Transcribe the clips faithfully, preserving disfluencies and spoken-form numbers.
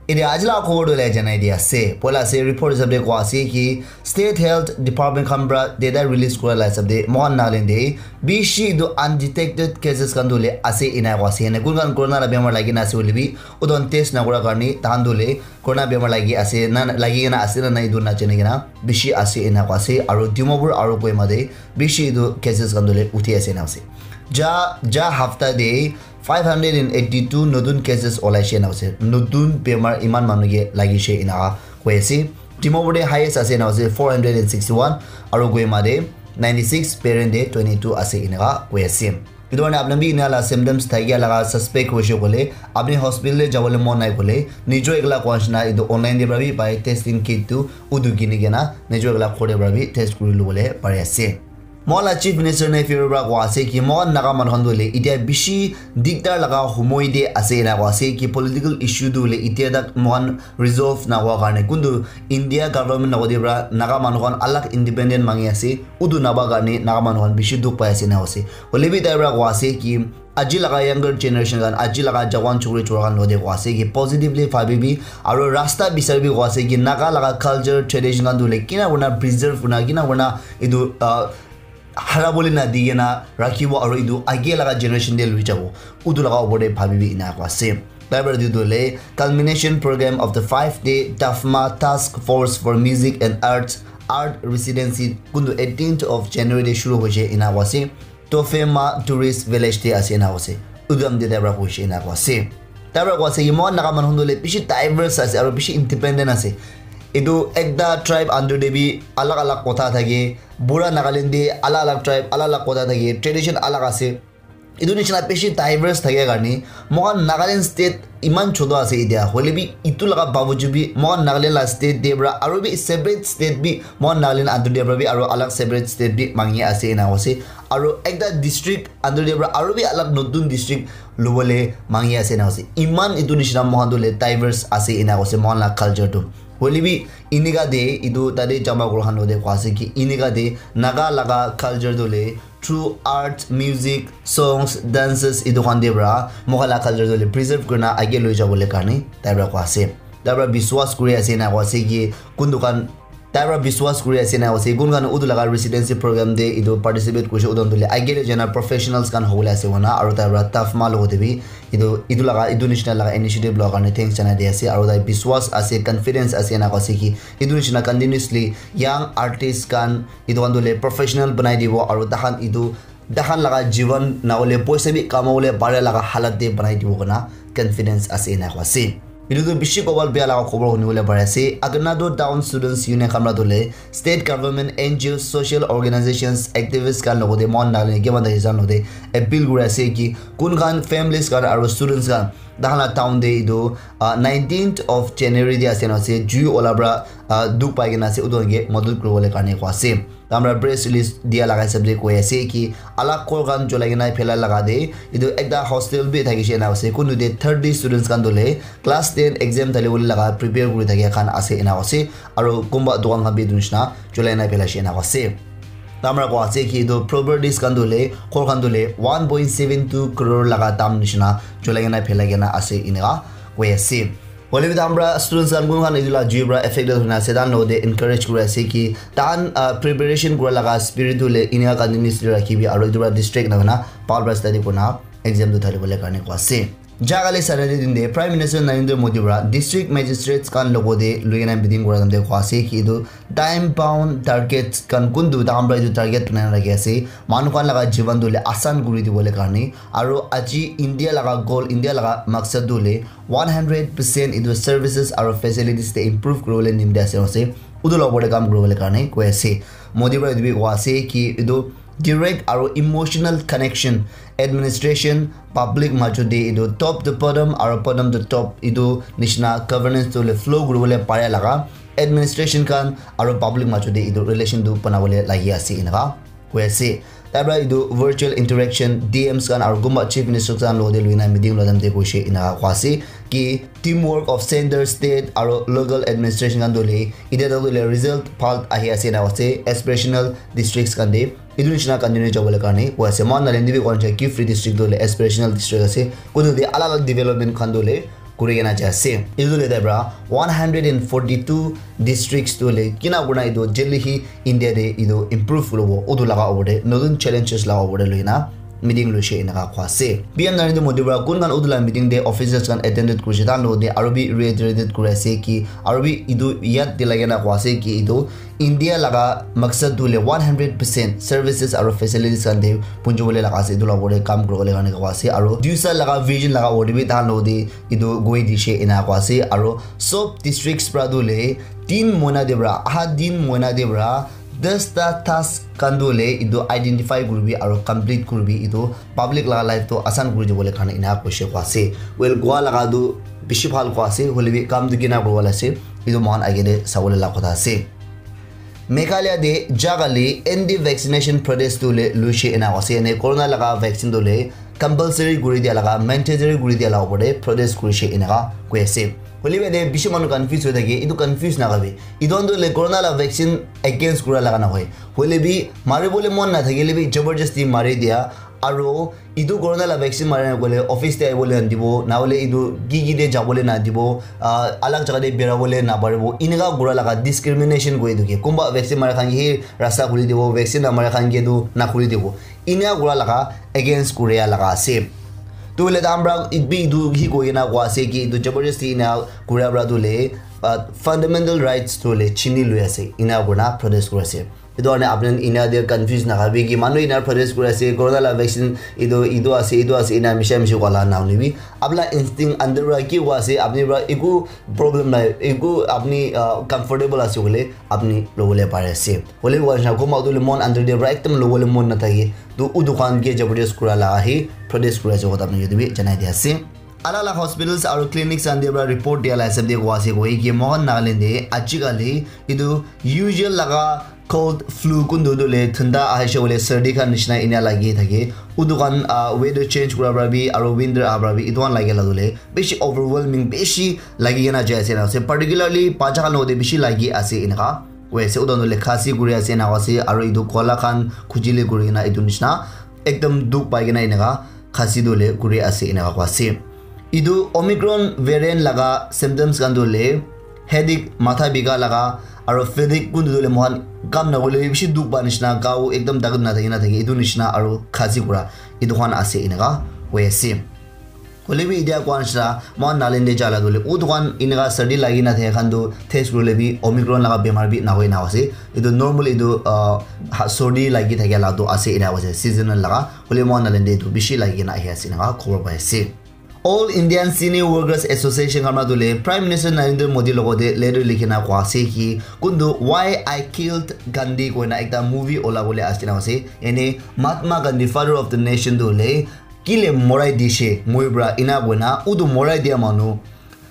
Ede aji la khobor tu le janai di ase. Poila ase report hisab de koa ase ki State Health Department khan pra data release kura la hisab de mohan Nagaland de bishi etu undetected cases khan tu le ase ena koa ase. Ene kun khan corona la bemar lagi na ase hoile bi udon test na kura karni tahan tu le corona bemar lagi ase na lagi kena ase na na etu na jane kena bishi ase ena koa ase. Aru Dimapur aru Kohima de bishi etu cases khan tu le uthi ase na ase. Ja ja hafta de five hundred and eighty-two notun cases olaishe na ase. Notun bemar iman manu ke lagishe ena koi ase. Dimapur de highest ase na ase four hundred and sixty-one aru Kohima de ninety-six, Peren de twenty-two ase ena koi ase. Etu karne apni bi ena la symptoms thakia laga suspect hoishe kole apni hospital de jabole mon nai kole nijor ekla koa nishina etu online de pra bi pai testing kit tu udu kini kena nijor ekla khor de pra bi test kuri lobole pari ase. Mohan la Chief Minister Neiphiu Rio pra koa ase ki mohan Naga manu khan tu hoile itia bishi dikdar laga homoi de ase ena koa ase ki political issue tu hoile itia tak mohan resolve na hua karne kuntu India government na kode pra Naga manu khan alag independent mangi ase utu naba karne Naga manu khan bishi dukh pai ase ena koa ase. Hoile bi tai pra koa ase ki aji laga younger generation khan aji laga jawan chukri chura khan lode koa ase ki positively bhabi bi aru rasta bisari bi koa ase ki Naga laga culture tradition khan tu hoile kina kurna preserve kurna kina kurna etu uh, harabole na di kena rakhibo aru etu age laga generation de lui jabo utu laga opor de bhabi bi ena koa ase. Tai pra etu tu hoile culmination program of the five day Tafma Task Force for Music and Arts art residency kuntu eighteenth of January de shuru hoishe ena koa ase. Tofema Tourist Village te ase ena koa ase. Udam de tai pra koishe ena koa ase. Tai pra koa ase ki mohan Naga manu khan tu hoile bishi diverse ase aru bishi independent ase. Etu ekta tribe under de bi alag alag kotha thake. Pura Nagaland de alag alag tribe alag alag kotha thake, tradition alag ase. Etu nishina bishi diverse thake karne mohan Nagaland state iman choto ase itia hoile bi etu laga babuju bi mohan Nagaland la state de pra aru bi separate state bi mohan Nagaland under de pra bi aru alag separate state bi mangi ase ena koa ase. Aru ekta district under de pra aru bi alag notun district lobole mangi ase ena koa ase. Iman etu nishina mohan tu hoile diverse ase ena koa ase mohan la culture tu. Hoile bi inika de etu tate jama kura khan lode koa ase ki inika de Naga laga culture tu hoile through art, music, songs, dances etu khan de pra mohan la culture tu hoile preserve kurna age loi jabole karne tai pra koa ase. Tai pra biswas kuri ase ena koa ase ki kuntu khan tai pra biswas kuri ase ena koa ase kun khan utu laga residency program de etu participate kurishe utu khan tu hoile age le jana professionals khan hobole ase koina aru tai pra Tafma logo de bi etu etu laga etu nishina laga initiative loa karne thanks janai di ase aru tai biswas ase confidence ase ena koa ase ki etu nishina continuously young artist khan etu khan tu hoile professional banai dibo aru takhan etu takhan laga jivan na hoile poisa bi kamabole pare laga halat de banai dibo koina confidence ase ena koa ase. Etu tu bishi kobal bia laga khobor huni bole pare ase. Aganado Town Students Union khan pra tu hoile state government, N G Os, social organizations, activists khan logo de mohan Nagaland kiman da hisan logo de appeal kuri ase ki kun khan families khan aru students khan takhan la town de etu uh, nineteenth of January de ase na ase jui ola pra uh, dukh pai kena ase utu khan ke madad kuri bole karne koa ase. Tamra press release dia laga hisab de koi ase ki alag ghor khan cholai kena phela laga de etu ekta hostel bi thakishe ena ase. Kuntu de thirty students khan tu hoile class ten exam thali bole laga prepare kuri thakia khan ase ena ase. Aru kunba dukan khan bi etu nishina cholai na phelaishe ena ase. Tamra koa ase ki etu properties khan tu hoile ghor khan tu hoile one point seven two crore laga dam nishina cholai kena phelai kena ase eneka koi ase. Hoile bi tahan pra students khan kun khan etu la jui pra affected hoina ase tahan logote encourage kuri ase ki tahan uh, preparation kura laga spirit tu le inika continuously rakhibi aru etu pra distract na hoina bhal pra study kurna exam tu thali bole karne koa ase. Jagale Saturday din de Prime Minister Narendra Modi pra district magistrates khan logote lui kena meeting kura time de koa ase ki etu time bound targets khan kuntu tahan pra etu target banai na rakhi ase manu khan laga jiban tu le asan kuri dibole karne aru aji India laga goal India laga maksad tu le one hundred percent etu services aru facilities te improve kuribole nimite ase ase utu la opor te kam kuribole karne koi ase. Modi para etu bi koa ase ki etu direct aru emotional connection administration public majo te etu top to bottom aru bottom to top etu nishina governance tu le flow kuribole pare laga administration khan aru public majo te etu relation tu banabole lagi ase eneka koi ase. Tai para etu virtual interaction D Ms khan aru kunba chief ministers khan logote loina meeting loa time te koise eneka koa ase ki teamwork of center, state aru local administration khan tu hoile etia tak tu hoile result bhal ahi ase eneka ase. Aspirational districts khan te etu nishina continue jabole karne koi ase. Mohan Nagaland te bi koa nishina Kiphire district tu hoile aspirational district ase. Kuntu te alag alag development khan tu hoile kuri kena jai ase. Etu le tai pra one hundred and forty two districts tu le kina kurina etu jaldi hi India te etu improve kuribo, utu laga opor te notun challenges laga opor te loi kena meeting loise eneka koa ase. P M Narendra Modi pra kun khan utu la meeting te officers khan attended kurise, tahan logote aro bi reiterated kuri ase ki, aro bi etu yad dilai kena koa ase ki etu India laga maksad tu le one hundred percent services aro facilities khan te punjibole laga ase, etu la opor te kam kuribole karne koa ase, aro duisa laga vision laga opor te bi tahan logote etu goi dise ena koa ase, aro sob districts pra tu le tin moina te pra, aha tin moina te pra, dasta task khan tu le etu identify kuribi aro complete kuribi, etu public laga life tu asan kuri dibole karne ena koise koa ase. Well, koa laga tu bishi bhal koa ase, hoile bi kam tu kina kuribo la ase, etu moikhan age te sabole la kotha ase. Meghalaya te jagali anti vaccination protest tu le luise ena ase, ene corona laga vaccine tu le compulsory kuri dia laga, mandatory kuri dia laga opor te protest kurise eneka koi ase. Hoile bi ene bishi manu confuse hoi thake, etu confuse nakabi. Etu khan tu le corona la vaccine against kura laga nahoi. Hoile bi maribole mon nathakile bi jabardasti mari dia, aro etu corona la vaccine mari na koile office te ahibole nadibo, nahole etu ki ki te jabole nadibo, ah, alag jaga te berabole naparibo, eneka kura laga discrimination koi etu ke. Kunba vaccine mara khan ke hi rasta khuli dibo, vaccine namara khan ke tu nakhuli dibo. Eneka kura laga against kuria laga ase. Tu hoile tahan pra bi etu hi koi kena koa ase ki etu jabardasti eneka kuria pra tu le, ah, fundamental rights tu le chini lui ase, eneka kurina protest kuri ase. Etu karne apni khan ena de confuse nakabi ki manu ena protest kuri ase, corona la vaccine etu, etu ase, etu ase, ena misha mishi koa la na hoilebi. Apni la instinct under pra ki koa ase, apni pra eku problem nai, eku apni, ah, comfortable ase koile, apni lobole pari ase. Hoile bi koa nishina, kunba etu le mon under de pra ekdum lobole mon nathake, tu utu khan ke jabardast kura la ahi, protest kuri ase, kotha apni ke etu bi janai di ase. Alak alak hospitals aru clinics khan te pra report dia la hisab te koa ase koi ki moikhan Nagaland te ajikali etu usual laga cold flu kuntu tu le thunda ahishe hoile sardi khan nishina ena lagi thake. Utu khan, ah, weather change kura pra bi aru winter aha pra bi etu khan lagi la tu le bishi overwhelming, bishi lagi kena jai ase na ase. Particularly bacha khan logote bishi lagi ase eneka koi ase. Utu khan tu le khasi kuri ase eneka ase aru etu kola khan khujili kuri kena etu nishina ekdum dukh pai kena eneka khasi tu le kuri ase eneka koa ase. Etu Omicron variant laga symptoms khan tu le headache, matha bika laga, aru fatigue kuntu tu le moikhan kam nahoile bishi dukh pa nishina, gao ekdum takut nathaki na thaki, etu nishina aru khasi kura, etu khan ase eneka koi ase. Hoile bi etia koa nishina, moikhan Nagaland te jala tu le, utu khan eneka sardi lagi na thaka khan tu test kurile bi Omicron laga bemar bi nahoi na ase. Etu normal etu, ah, ha-, sardi lagi thakia la tu ase eneka ase, seasonal laga. Hoile moikhan Nagaland te etu bishi lagi kena ahi ase eneka khobor pai ase. All Indian Cine Workers Association khan pra tu le Prime Minister Narendra Modi logote letter likhi na koa ase ki kuntu Why I Killed Gandhi koina ekta movie ola bole ase na ase. Ene Mahatma Gandhi, father of the nation tu le kile morai dishe moi pra ena koina utu morai dia manu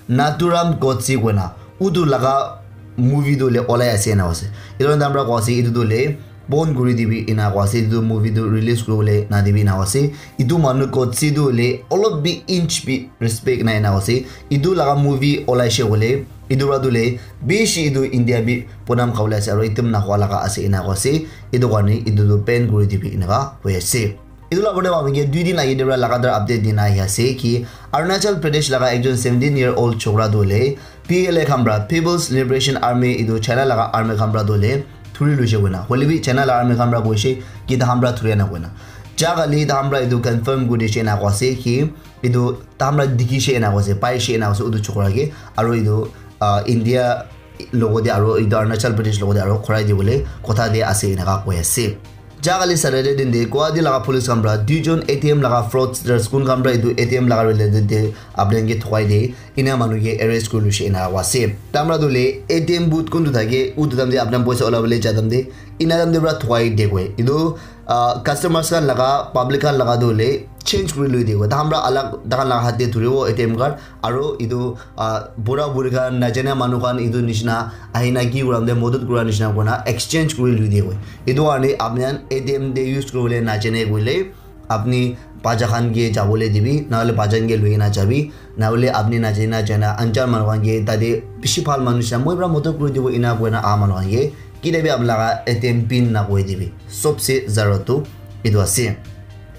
Nathuram Godse koina utu laga movie tu le olai ase na ase. Etu khan pra koa ase etu tu le bon kuri dibi ena koa ase, etu movie tu release kuribole nadibi ena koa ase. Etu manu Godse tu hoile olop bi inch bi respect nai ena koa ase. Etu laga movie olaishe hoile etu pra tu hoile bishi etu India bi bonam khabole ase aru ekdum nahoa laga ase ena koa ase. Etu karne etu tu ban kuri dibi eneka koi ase. Etu la opor te apni ke dui din age te pra lagatar update dina ahi ase ki Arunachal Pradesh laga ekjon seventeen year old chokra tu hoile P L A khan pra, People's Liberation Army, etu China laga army khan pra tu hoile thuri luishe koina. Hoile bi China laga army khan pra koishe ki tahan pra thuri ana koina. Ja kali tahan pra etu confirm kuri dishe ena koa ase ki etu tahan pra dikhishe ena koa ase, paishe ena koa ase utu chokra ke. Aru etu, ah, India logote aru etu Arunachal Pradesh logote aru khurai dibole kotha de ase eneka koi ase. Ja kali Saturday din te Guwahati laga police khan pra duijon A T M laga fraudsters kun khan pra etu A T M laga related te apni khan ke thokai de ena manu ke arrest kuri luishe ena koa ase. Tahan pra tu hoile A T M booth kuntu thake utu tahan te apni khan poisa ulabole ja tahan te ena tahan te pra thokai de koi. Etu, ah, customers khan laga, public khan laga tu hoile change kuri lui de koi. Tahan pra alag tahan laga hath te thuribo A T M card aru etu, ah, bura buri khan, najana manu khan etu nishina ahina ki kuram de modot kura nishina kurina exchange kuri lui de koi. Etu karne apni khan A T M de use kuribole najane koile apni bacha khan ke jabole dibi, nahole bacha khan ke lui kena jabi, nahole apni najana najana anjan manu khan ke tate bishi bhal manu nishina moi pra modot kuri dibo ena koina aha manu khan ke kile bi apni laga A T M pin na koi dibi. Sobse zarurat tu etu ase.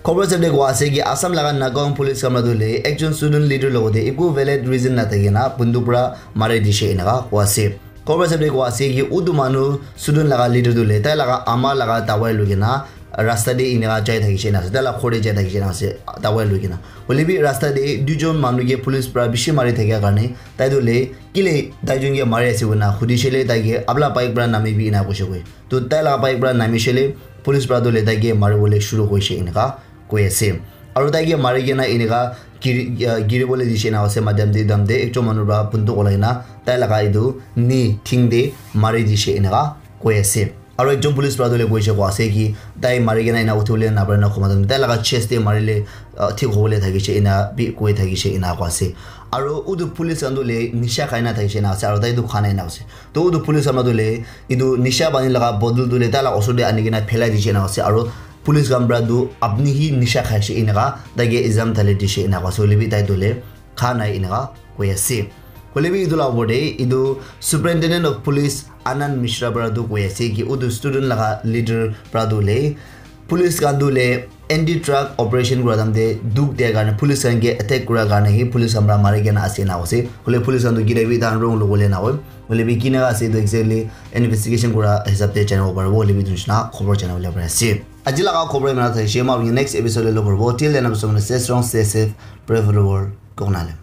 Khobor sab de koa ase ki Assam laga Nagaon police khan para tu le ekjon student leader logote eku valid reason na thaki na bunduk para mari dishe eneka koa ase. Khobor sab de koa ase ki utu manu student laga leader tu le tai laga ama laga dawai lukina rasta de eneka jai thakishe na ase, tai laga ghor de jai thakishe na ase dawai lukina. Hoile bi rasta de duijon manu ke police para bishi mari thakia karne tai tu le kile tai jon ke mari ase koina hudishe le tai ke apna bike para nami bi ena koishe koi. To tai laga bike para namishe le police para tu le tai ke mari bole shuru koishe eneka koi ase. Aru tai ke mari kena eneka giri, ah, giri bole dishe na ase madam de dam de ekjon manu para bunduk olai na tai laga etu knee thing de mari dishe eneka koi ase. Aru ekjon police para tu le koishe koa ase ki tai mari kena ena uthi bole na pare na khoma tai laga chest de mari le, ah, thik hobole thakishe ena bi koi thakishe ena koa ase. Aru utu police khan tu le nisha khai na thakishe na ase aru tai tu kha nai na ase. To utu police khan tu le etu nisha pani laga bottle tu le tai laga osor de ani kena phelai dishe na ase aru police khan para tu apni hi nisha khaishe eneka tai ke exam thale dishe ena koa ase hoile bi tai tu le kha nai eneka koi ase. Hoile bi etu la opor de etu Superintendent of Police Anand Mishra para tu koi ase ki utu student laga leader para tu le police khan tu le anti drug operation kura time de dukh dia karne police khan ke attack kura karne hi police khan para mari kena ase ena koa ase. Hoile police khan tu kile bi tai wrong lobole na hoi. Hoile bi kina ase etu exactly investigation kura hisab de janibo paribo hoile bi etu nishina khobor janibole pari ase. Aji laga khobor ena thakishe, moi apni next episode de log koribo. Till then, stay strong, stay safe, pray for the world. Koknale.